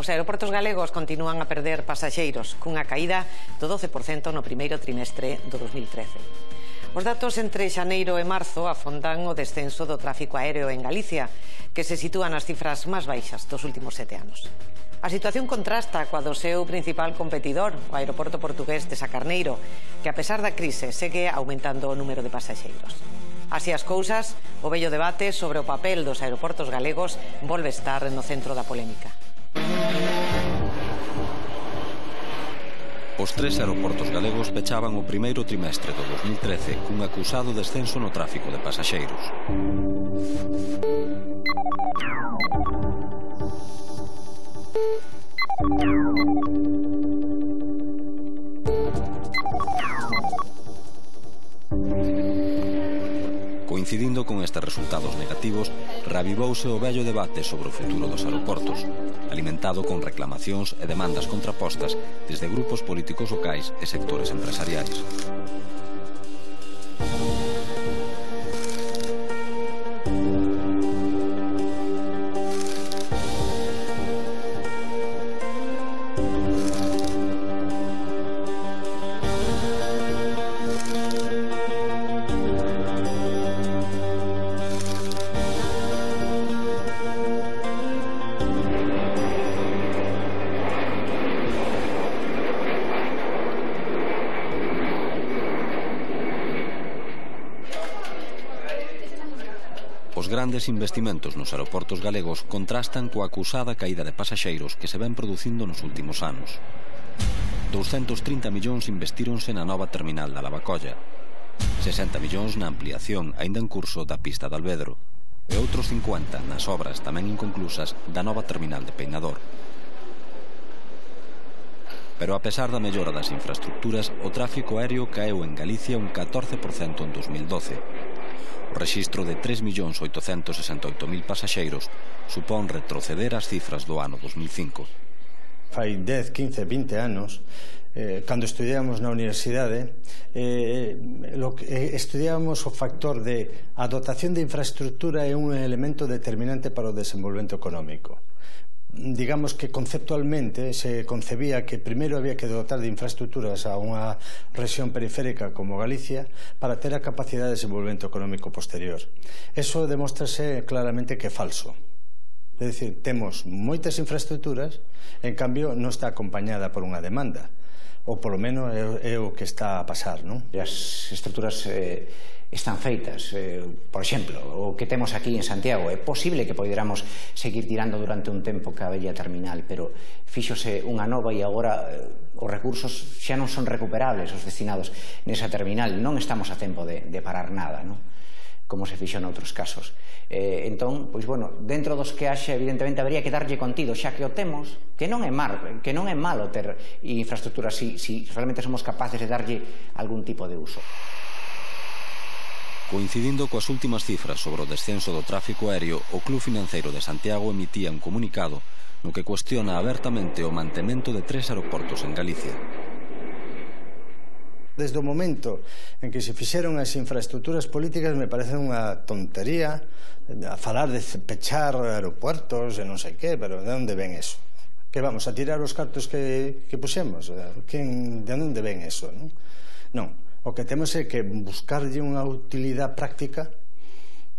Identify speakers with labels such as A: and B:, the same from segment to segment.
A: Os aeroportos galegos continúan a perder pasaxeiros, cunha caída do 12% no primeiro trimestre do 2013. Os datos entre xaneiro e marzo afondan o descenso do tráfico aéreo en Galicia, que se sitúa nas cifras máis baixas dos últimos 7 anos. A situación contrasta coa do seu principal competidor, o aeroporto portugués de Sacarneiro, que a pesar da crise segue aumentando o número de pasaxeiros. Así as cousas, o vello debate sobre o papel dos aeroportos galegos volve estar no centro da polémica.
B: Os 3 aeroportos galegos pechaban o primeiro trimestre do 2013 cun acusado descenso no tráfico de pasaxeiros. Coincidindo con estes resultados negativos, reavivouse o vello debate sobre o futuro dos aeroportos, alimentado con reclamacións e demandas contrapostas desde grupos políticos locais e sectores empresariais. Os grandes investimentos nos aeroportos galegos contrastan coa acusada caída de pasaxeiros que se ven producindo nos últimos anos. 230 millóns investíronse na nova terminal da Lavacolla, 60 millóns na ampliación aínda en curso da pista de Alvedro e outros 50 nas obras tamén inconclusas da nova terminal de Peinador. Pero a pesar da mellora das infraestructuras, o tráfico aéreo caeu en Galicia un 14% en 2012. O rexistro de 3.868.000 pasaxeiros supón retroceder as cifras do ano 2005.
C: Fai 10, 15, 20 anos, cando estudiábamos na universidade, estudiábamos o factor de a dotación de infraestructura é un elemento determinante para o desenvolvemento económico. Digamos que conceptualmente se concebía que primeiro había que dotar de infraestructuras a unha rexión periférica como Galicia para ter a capacidade de desenvolvemento económico posterior. Eso demóstrase claramente que é falso. É dicir, temos moitas infraestructuras, en cambio non está acompañada por unha demanda, ou polo menos é o que está a pasar, non?
D: As estructuras están feitas, por exemplo, o que temos aquí en Santiago. É posible que poderamos seguir tirando durante un tempo ca bella terminal, pero fíxose unha nova e agora os recursos xa non son recuperables os destinados nesa terminal. Non estamos a tempo de parar nada, non? Como se fixo noutros casos. Entón, pois, bueno, dentro dos que haxe, evidentemente, habería que darlle contido, xa que o temos, que non é malo ter infraestructuras se realmente somos capaces de darlle algún tipo de uso.
B: Coincidindo coas últimas cifras sobre o descenso do tráfico aéreo, o Club Financeiro de Santiago emitía un comunicado no que cuestiona abertamente o mantemento de 3 aeroportos en Galicia.
C: Desde o momento en que se fixeron as infraestructuras políticas me parece unha tontería a falar de pechar aeropuertos e non sei que, pero de onde ven eso? Que vamos a tirar os cartos que puxemos? De onde ven eso? Non. O que temos é que buscarlle unha utilidade práctica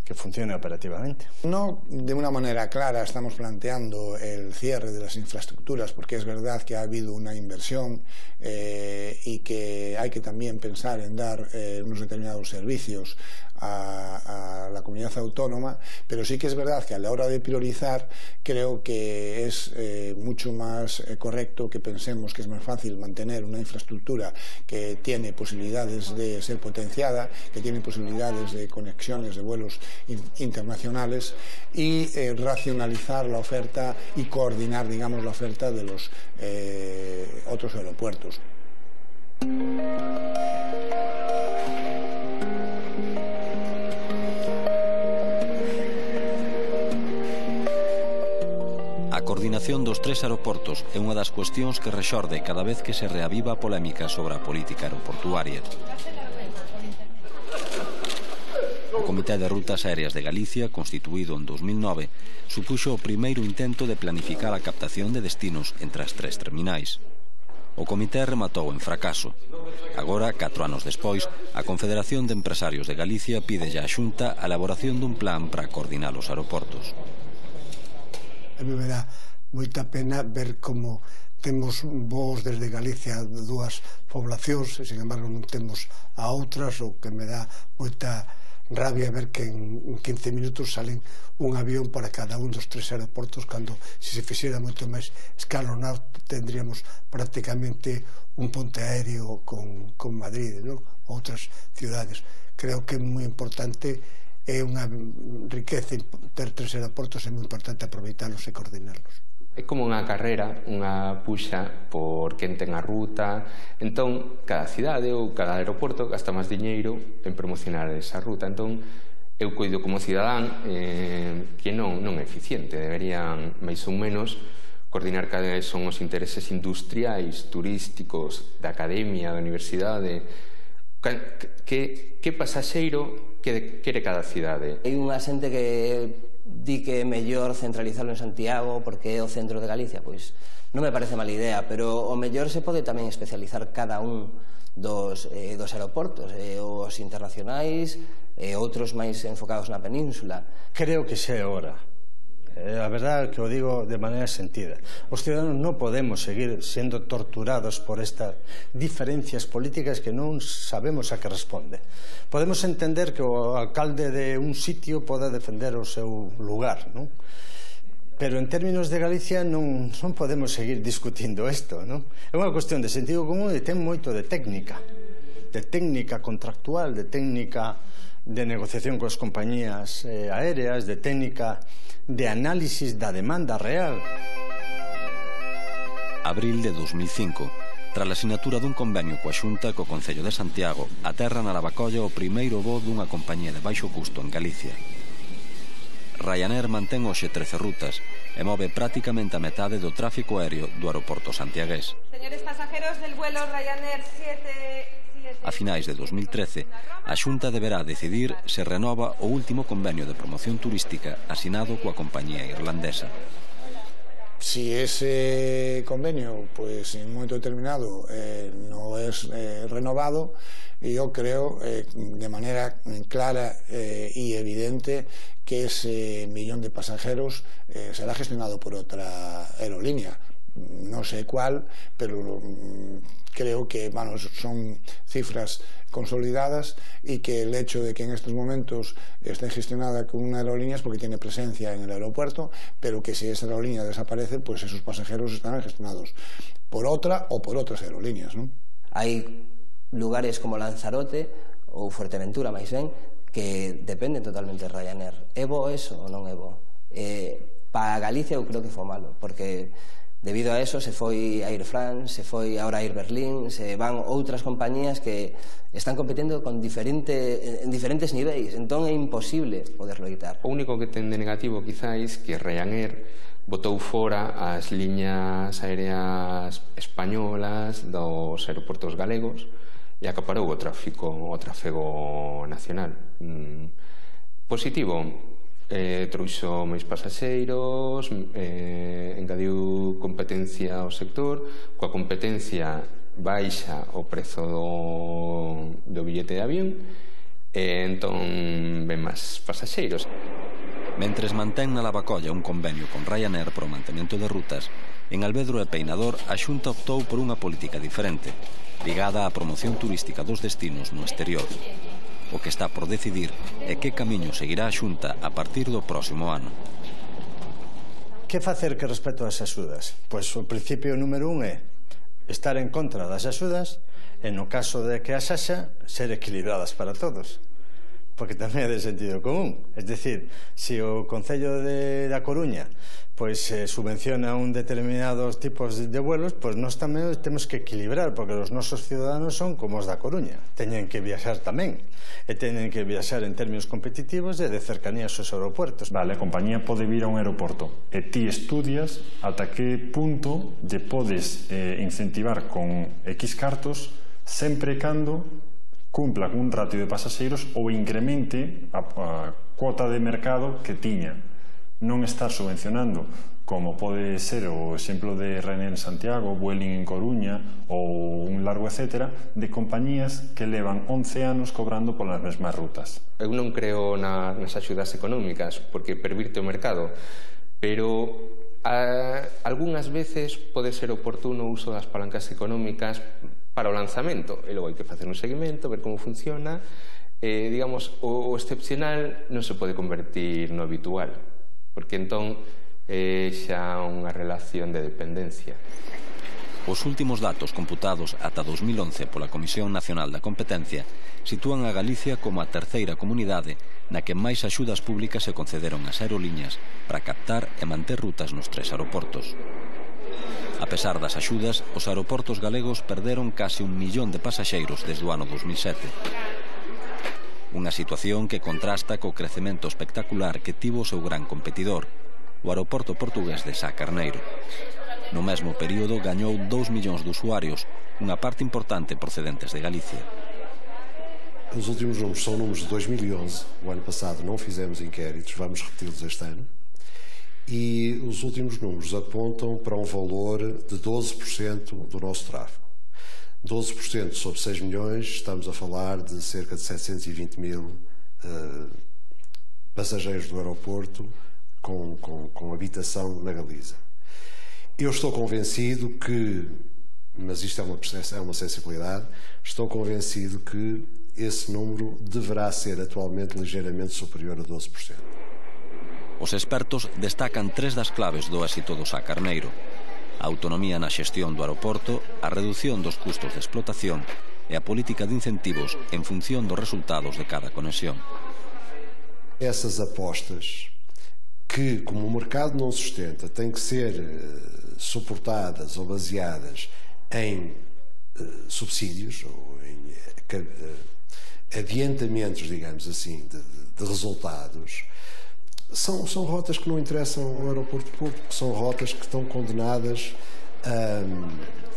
C: que funcione operativamente.
E: No de una manera clara estamos planteando el cierre de las infraestructuras, porque es verdad que ha habido una inversión y que hay que también pensar en dar unos determinados servicios a la comunidad autónoma, pero sí que es verdad que a la hora de priorizar creo que es mucho más correcto que pensemos que es más fácil mantener una infraestructura que tiene posibilidades de ser potenciada, que tiene posibilidades de conexiones de vuelos internacionales y racionalizar la oferta y coordinar, digamos, la oferta de los otros aeropuertos.
B: A coordinación dos 3 aeroportos é unha das cuestións que rexorde cada vez que se reaviva a polémica sobre a política aeroportuaria. Comité de Rutas Aéreas de Galicia, constituído en 2009, supuxo o primeiro intento de planificar a captación de destinos entre as tres terminais. O comité rematou en fracaso. Agora, 4 anos despois, a Confederación de Empresarios de Galicia pide á Xunta a elaboración dun plan para coordinar os aeroportos.
F: A mí me dá moita pena ver como temos voos desde Galicia de dúas poblacións e, sin embargo, non temos a outras, o que me dá moita rabia ver que en 15 minutos salen un avión para cada un dos 3 aeroportos, cando se fixera moito máis escalonado tendríamos prácticamente un ponte aéreo con Madrid, ¿no? Outras ciudades. Creo que é moi importante, é unha riqueza ter 3 aeroportos, é moi importante aproveitarlos e coordinarlos.
G: É como unha carrera, unha puxa por quen ten a ruta. Entón, cada cidade ou cada aeroporto gasta máis diñeiro en promocionar esa ruta. Entón, eu coido como cidadán que non é eficiente. Deberían, máis ou menos, coordinar cales son os intereses industriais, turísticos, da academia, da universidade. Que pasaxeiro quere cada cidade?
H: Hai unha xente que di que é mellor centralizarlo en Santiago porque é o centro de Galicia. Pois non me parece mala idea, pero o mellor se pode tamén especializar cada un dos aeroportos, os internacionais e outros máis enfocados na península.
C: Creo que xa é hora. A verdade é que o digo de maneira sentida. Os ciudadanos non podemos seguir sendo torturados por estas diferencias políticas que non sabemos a que responde. Podemos entender que o alcalde de un sitio poda defender o seu lugar, non? Pero en términos de Galicia non podemos seguir discutindo isto, non? É unha cuestión de sentido común e ten moito de técnica contractual, de técnica de negociación coas compañías aéreas, de técnica de análisis da demanda real.
B: Abril de 2005. Tras a asinatura dun convenio coa Xunta co Concello de Santiago, aterra na Lavacolla o primeiro voo dunha compañía de baixo custo en Galicia. Ryanair mantén hoxe 13 rutas e move prácticamente a metade do tráfico aéreo do aeroporto santiagués.
I: Señores pasajeros del vuelo Ryanair 7...
B: A finais de 2013, a Xunta deberá decidir se renova o último convenio de promoción turística asinado coa compañía irlandesa.
E: Si ese convenio, pues en un momento determinado no es renovado, yo creo de manera clara y evidente que ese millón de pasajeros será gestionado por otra aerolínea. No sé cuál, pero creo que son cifras consolidadas y que el hecho de que en estos momentos esté gestionada con una aerolínea es porque tiene presencia en el aeropuerto, pero que si esa aerolínea desaparece, pues esos pasajeros estarán gestionados por otra o por otras aerolíneas, ¿no?
H: Hai lugares como Lanzarote ou Fuerteventura, máis ben, que dependen totalmente de Ryanair. É bo eso ou non é bo? Para Galicia eu creo que foi malo, porque debido a eso se foi Air France, se foi ahora Air Berlin, se van outras compañías que están competindo en diferentes niveis, entón é imposible poderlo evitar.
G: O único que ten de negativo quizáis que Ryanair botou fora as liñas aéreas españolas dos aeroportos galegos e acaparou o tráfego nacional. Positivo, trouxo máis pasaxeiros, engadiu competencia ao sector, coa competencia baixa o prezo do billete de avión e entón ven máis pasaxeiros.
B: Mentres mantén na Lavacolla un convenio con Ryanair para o mantemento de rutas, en Alvedro e Peinador a Xunta optou por unha política diferente, ligada á promoción turística dos destinos no exterior. O que está por decidir é que camiño seguirá a Xunta a partir do próximo ano.
C: Que facer que respecto ás axudas? Pois o principio número 1 é estar en contra das axudas e no caso de que as haxa, ser equilibradas para todos. Porque tamén é de sentido común. Es decir, se o Concello da Coruña pois subvenciona un determinados tipos de vuelos, pois nós tamén temos que equilibrar, porque os nosos ciudadanos son como os da Coruña, teñen que viaxar tamén e teñen que viaxar en términos competitivos e de cercanía aos aeropuertos.
J: Vale, a compañía pode vir a un aeroporto e ti estudias ata que punto lle podes incentivar con X cartos sempre e cando cumpla cun ratio de pasaxeiros ou incremente a cuota de mercado que tiña. Non estar subvencionando, como pode ser o exemplo de Ryanair en Santiago, Vueling en Coruña ou un largo etcétera, de compañías que levan 11 anos cobrando polas mesmas rutas.
G: Eu non creo nas axudas económicas porque pervirte o mercado, pero algunhas veces pode ser oportuno o uso das palancas económicas para o lanzamento, e logo hai que facer un seguimento, ver como funciona. Digamos, o excepcional non se pode convertir no habitual, porque entón xa unha relación de dependencia.
B: Os últimos datos computados ata 2011 pola Comisión Nacional da Competencia sitúan a Galicia como a terceira comunidade na que máis axudas públicas se concederon ás aerolíneas para captar e manter rutas nos 3 aeroportos. A pesar das axudas, os aeroportos galegos perderon case 1 millón de pasaxeiros desde o ano 2007. Unha situación que contrasta co crecemento espectacular que tivo o seu gran competidor, o aeroporto portugués de Sá Carneiro. No mesmo período gañou 2 millóns de usuarios, unha parte importante procedentes de Galicia.
K: Os últimos números são números de 2011. O ano passado não fizemos inquéritos, vamos repeti-los este ano. E os últimos números apontam para um valor de 12% do nosso tráfego. 12% sobre 6 milhões, estamos a falar de cerca de 720 mil passageiros do aeroporto com habitação na Galiza. Eu estou convencido que, mas isto é uma sensibilidade, estou convencido que esse número deverá ser atualmente ligeiramente superior a 12%.
B: Os expertos destacan 3 das claves do éxito do Sá Carneiro: a autonomía na xestión do aeroporto, a reducción dos custos de explotación e a política de incentivos en función dos resultados de cada conexión.
K: Essas apostas que, como o mercado não sustenta, têm que ser suportadas ou baseadas em subsídios ou em adiantamentos, digamos assim, de resultados, são rotas que não interessam ao aeroporto público, são rotas que estão condenadas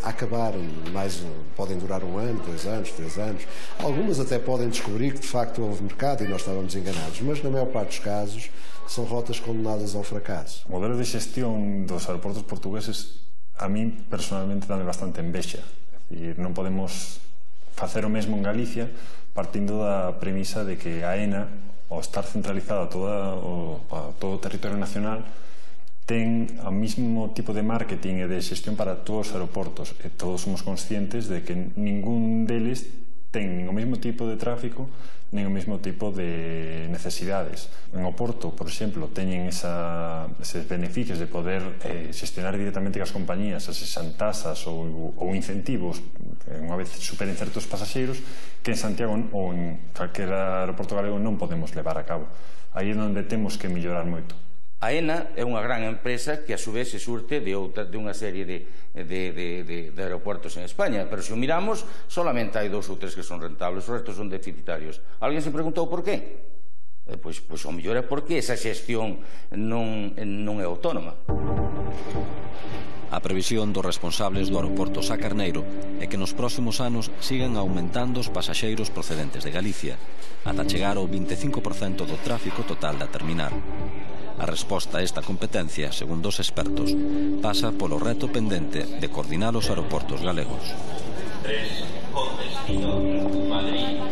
K: a acabar, podem durar 1 ano, 2 anos, 3 anos. Algumas até podem descobrir que de facto houve mercado e nós estávamos enganados, mas na maior parte dos casos são rotas condenadas ao fracasso.
J: O modelo de xestión dos aeroportos portugueses a mí personalmente dame bastante envexa. E non podemos facer o mesmo en Galicia partindo da premisa de que a AENA, ao estar centralizada a todo o territorio nacional, ten o mesmo tipo de marketing e de xestión para todos os aeroportos, e todos somos conscientes de que ningún deles ten nin o mesmo tipo de tráfico nin o mesmo tipo de necesidades. En Oporto, por exemplo, teñen eses beneficios de poder xestionar directamente as compañías, esas tasas ou incentivos, unha vez superen certos pasaxeiros, que en Santiago ou en calquer aeroporto galego non podemos levar a cabo. Aí é onde temos que mellorar moito.
L: A AENA é unha gran empresa que a su vez se surte de unha serie de aeroportos en España, pero se o miramos, solamente hai 2 ou 3 que son rentables, os restos son deficitarios. Alguén se preguntou por qué? Pois o mellor é porque esa xestión non é autónoma.
B: A previsión dos responsables do aeroporto Sá Carneiro é que nos próximos anos sigan aumentando os pasaxeiros procedentes de Galicia, ata chegar ao 25% do tráfico total da terminal. A resposta a esta competencia, segundo os expertos, pasa polo reto pendente de coordinar os aeroportos galegos.
M: 3, con destino Madrid.